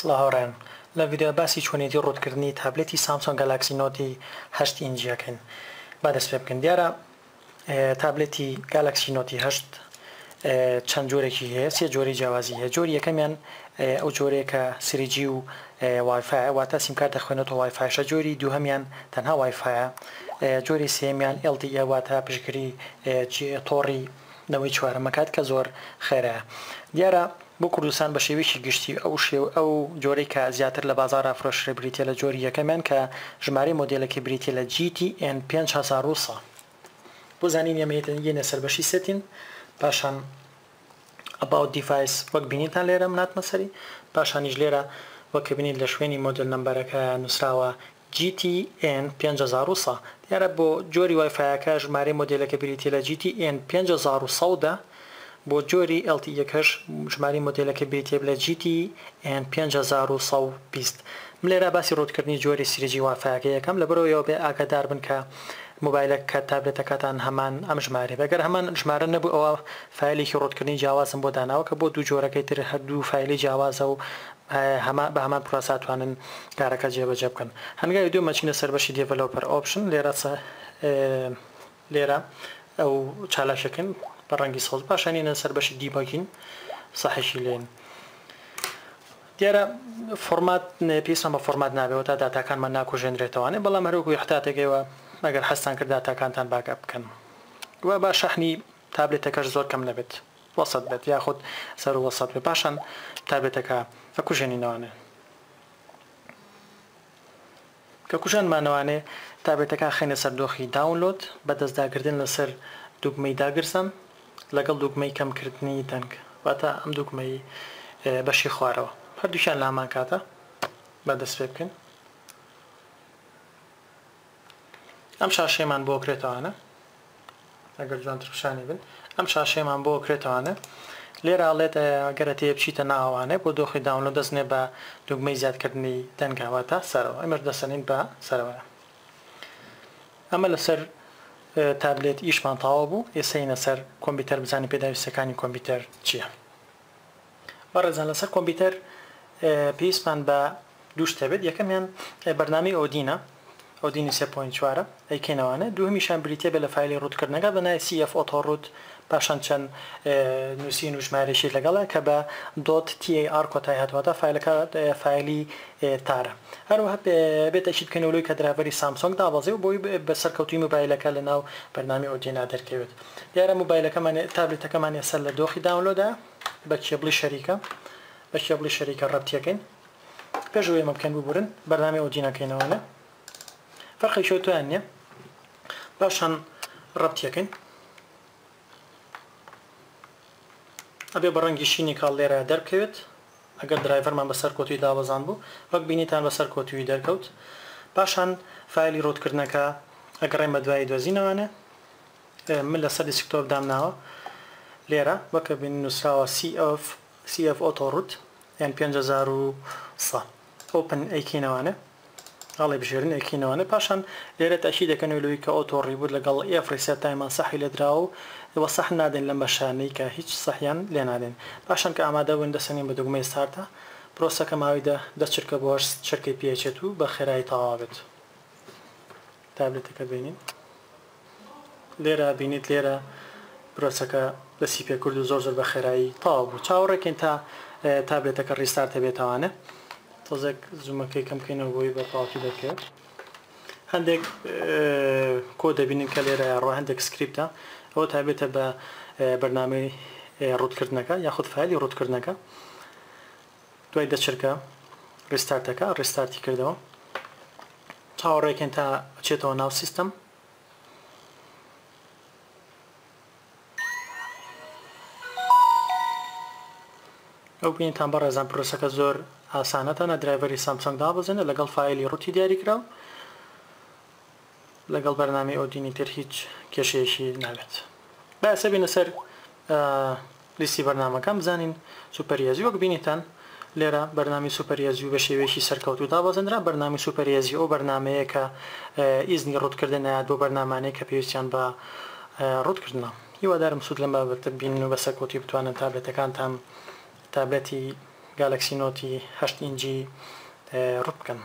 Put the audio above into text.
سڵاو هاوڕێیان لە ڤیدیۆ باسی چۆنیەتی ڕووتکردنی تابلێتی سامسۆنگ گالاکسی نۆتی هەشت ئینجی ئەکەین با دەست پێ بکەین دیارە تابلێتی گالاکسی نۆتی هەشت چەند جۆرێکی هەیە سێ جۆری جیاوازی هەیە جۆری یەکەمیان ئەو جۆرەیە کە 3G و وایفایە واتە سیمکارت دەخوێنێتەوە وایفایشە جۆری دووهەمیان تەنها وایفایە جۆری سێیەمیان LTE واتە پشتگیری تۆڕی نەوەی چوارەم ئەکات کە زۆر خێرایە دیارە بۆ کوردستان بە شێوەیەکی گشتی ئەو شێو ئەو جۆرەی کە زیاتر لە بازاڕا فرۆشرێ بریتیە لە جۆری یەکەمیان کە ژمارەی مۆدێلەکەی بریتیە لە GTN 5100 بۆ زانینی ئەمە یەنە سەر بەشی setting پاشان About Device وەک بینیتان لێرە من هاتمە سەری پاشانیش لێرە وەک کە بینیت لە شوێنی model number ەکە نووسراوە GTN 5100 دیارە بۆ جۆری وایفایەکە ژمارەی مۆدێلەکە بریتیە لە GTN 5110 بۆ جۆری LTE یەکەش ژمارەی مۆدێلەکە بریتیە لە GTN 5120 من لێرە باسی root کردنی جۆری 3G وایفایەکە یەکەم لەبەرئەوەی بێ ئاگادار بن کە مۆبایلەکە تابلێتەکەتان هەمان ئەم ژمارەیە بێ گەر هەمان ژمارە نەبوو ئەوا فایلێکی root کردنی جیاوازم بۆ داناوە کە بۆ دوو جۆرەکەی تر هەردوو فایلی جیاوازە و بە هەمان پرۆسە ئەتوانن کارەکە جێبەجێ بکەن. هەنگاوی دووەم ئەچینە سەر بەشی Developer Option لێرە لێرە ئەو چالاکیەکەین بە ڕەنگی سەوز پاشان یەنە سەر بەشی Debugging سەحیشی لێن. دیارە format پێویستمان بە format نابێت تا داتاکانمان ناکوژێنرێتەوانێ بەڵام هەروەکو ئیحتاتێک ئێوە ئەگەر حەزتان کرد داتاکانتان backup بکەن و با شەحنی تابلێتەکەش زۆر کەم نەبێت. وەسەت بێت یاخود سەرو وەسەت بێت پاشان تابلێتەکە ئەکوژێنینەوانێ کە کوژاندمانەوانێ تابلێتەکە ئەخەینە سەر دۆخی download بە دەست داگرتن لەسەر دوگمەی داگرسان لەگەڵ دوگمەی کەمکردنی دەنگ واتە ئەم دوگمەی بەشی خوارەوە هەردووکیان لە هەمان کاتە با دەست پێ بکەین ئەم شاشەیەمان بۆ کرێتەوانە ئەگەر جوانتر پیشانی بن ئەم شاشەیەمان بۆ کرێتەوانە لێرە ئەڵێت ئەگەر ئەتەوێ بچیتە ناوانێ بۆ دۆخی download دەستنێ بە دوگمەی زیادکردنی دەنگە واتە سەرەوە ئێمەش دەسەنین بە سەرەوە ئەمە لەسەر تابلێت ئیشمان تەواو بوو ئێسەینە سەر کۆمپیوتەر بزانین پێداویستەکانی کۆمپیوتەر چییە بەڕێزان لەسەر کۆمپیوتەر پێویستمان بە دوو شت هەبێت یەکەمیان بەرنامەی ئۆدینە ئۆدینی سێ point چوارە ئەیکەینەوانە دووهەمیشان بریتیە بێت لە فایلی root کردنەکە بە ناوی CF Auto Root پاشان چەند نووسین و ژمارەیەکی لەگەڵە کە بە dot TAR کۆتایی هاتووە تا فایلەکە فایلی tar ە هەروەها بێت ئەکید بکەینەوە لەوەی کە driver ی سامسۆنگ دابەزێ و بۆی بە سەرکەوتووی مۆبایلەکە لەناو بەرنامەی ئۆدینا دەرکەوێت دیارە مۆبایلەکەمان تابلێتەکەمان ئێستا لە دۆخی download ە بە کێبڵی شەریکە بە کێبڵی شەریکە ڕەبتیەکەین پێش ئەوەی ئەمە بکەین ببورن بەرنامەی ئۆدین ئەکەینەوانە فەرقێکی ئەوتۆیان نییە پاشان ڕەبتیەکەین ئەبێ بە ڕەنگی شینی کاڵ لێرە دەربکەوێت ئەگەر driver مان بەسەر کۆتوی دابەزان بوو وەک بینیتان بەسەر کۆتوی دەرکەوت پاشان فایلی root کردنەکە ئەگەڕێن بە دوای دۆزینەوانە من لەسەر desktop دامناوە لێرە وەک بینن نووسراوە CF CF Auto Root یان 5100 open ئەیکەینەوانێ هەڵی بژێرن ئەیکەینەوانێ پاشان لێرە تەئکید دەکەنەوە لەوەی کە auto reboot لەگەڵ every set time مان سەحی لێدراوە و سەح نادەین لەم بەشانەی کە هیچ سەحیان لێ نادەین پاشان کە ئامادە بووین دەسەنین بە دوگمەی start ا پرۆسەکە ماوەی دە دە چرکە بۆ هەشت چرکەی پێچێت و بە خێرایی تەواو بێت تابلێتەکە بینین لێرە بینیت لێرە پرۆسەکە دەستی پێکرد و زۆر زۆر بە خێرایی تەواو بوو چاوەڕێکەین تا تابلێتەکە restart ئەبێتەوانێ تۆزێک zoom ەکەی کەم بکەینەوە بۆی بە تەواوەتی دەرکەوێت هەندێک کۆ دەبینن کە لێرە ڕۆ هەندێک سکریپتە ئەوە تایبەتە بە بەرنامەی root کردنەکە یاخود فایلی root کردنەکە دوای دەچرکە restart ەکە restart ی کردەوە چاوەڕێکەین تا ئەچێتەوە ناو سیستەم. ئەو بینیتان بەڕێزان پرۆسەکە زۆر ئاسانە تەنها driver ی سامسۆنگ دابەزێنە لەگەڵ فایلی root ی دیاریکراو لەگەڵ بەرنامەی ئۆدینی تر هیچ کێشەیەکی نابێت با ئێستا بینە سەر لیستی بەرنامەکان بزانین SuperEasy وەک بینیتان لێرە بەرنامەی SuperEasy بە شێوەیەکی سەرکەوتوو دابەزێنرا بەرنامەی SuperEasy ئەو بەرنامەیە کە ئیزنی root کردن ئەیات بۆ بەرنامانەی کە پێویستیان بە root کردنە هیوادارم سوود لەم بابەتە ببینن و بە سەرکەوتووی بتوانن تابلێتەکانتان تابلێتی. گالەکسی نۆتی 8 ئینجی ڕوت بکەن.